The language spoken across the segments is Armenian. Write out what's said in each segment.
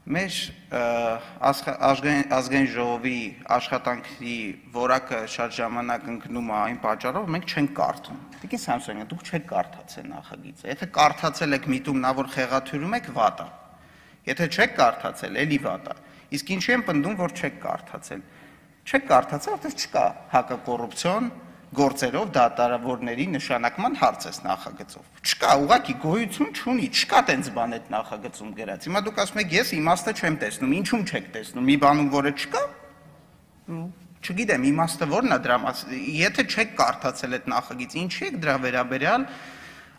Մեր ազգային ժողովի աշխատանքի որակը շատ ժամանակ ընկնում է այն պատճառով, մենք չենք կարդում։ Տիկին Սամսոնյան, դուք չեք կարդացել նախագիծը։ Եթե կարդացել եք միտում նա որ խեղաթյուրում եք, վատ է։ Եթե չեք կարդացել, էլի վատ է։ Իսկ ինչի եմ պնդում, որ չեք կարդացել։ Չեք կարդացել, որտեղ չկա հակակոռուպցիոն գործերով դատարավորների նշանակման հարց է նախագծով։ Չկա, ուղղակի գոյություն չունի, չկա տենց բան այդ նախագծում գրած։ Հիմա դուք ասում եք, ես իմաստը չեմ տեսնում, ինչու՞մ չեք տեսնում։ Մի բանում, որը չկա։ Չգիտեմ, իմաստը ո՞րն է դրա մասին։ Եթե չեք կարդացել այդ նախագիծը, ինչի եք դրա վերաբերյալ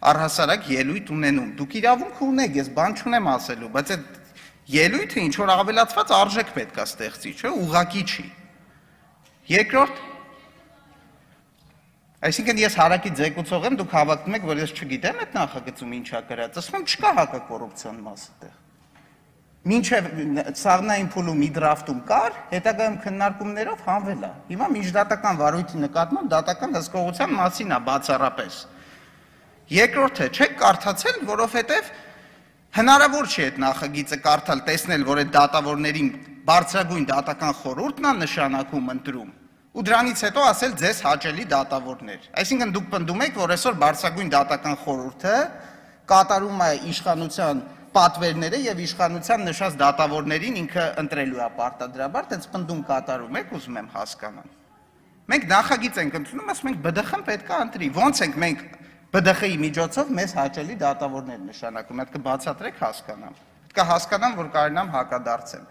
առհասարակ ելույթ ունենում։ Դուք իրավունք ունեք, ես բան չունեմ ասելու, բայց այդ ելույթը ինչ որ ավելացված արժեք պետք է ստեղծի, չէ՞, ուղղակի չի։ Երկրորդ Այսինքն ես հարակի ձեկուցող եմ, դուք հավակնում եք, որ ես չգիտեմ այդ նախագծում ինչա գրած, ասում եմ չկա հակակոռուպցիոն մասը տեղ։ Մինչև սաղմնային փուլում մի դրաֆտում կար, հետագայում քննարկումներով հանվել է։ Հիմա միջդատական վարույթի նկատմամբ դատական հսկողության մասին է բացառապես։ Երկրորդը չեք կարդացել, որովհետև հնարավոր չի այդ նախագիծը կարդալ, տեսնել, որ այդ դատավորներին բարձրագույն դատական խորհուրդն է նշանակում ընտրում։ Ու դրանից հետո ասել ձեզ հաճելի դատավորներ։ Այսինքն դուք պնդում եք, որ այսօր բարձրագույն դատական խորհուրդը կատարում է իշխանության պատվերները եւ իշխանության նշած դատավորներին ինքը ընտրելու է պարտադրաբար, տենց պնդում կատարում եք, ուզում եմ հասկանալ։ Մենք նախագիծ ենք ընդունում, ասում ենք ԲԴԽ-ն պետք է ընտրի։ Ոնց ենք մենք ԲԴԽ-ի միջոցով մեզ հաճելի դատավորներ նշանակում։ Այդ կբացատրեք հասկանամ։ Պետք է հասկանամ, որ կարողանամ հակադարձեմ։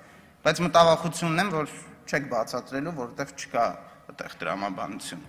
Բայց մտավախություն ունեմ, որ չեք բացատրելու, որովհետև չկա այդտեղ տրամաբանություն։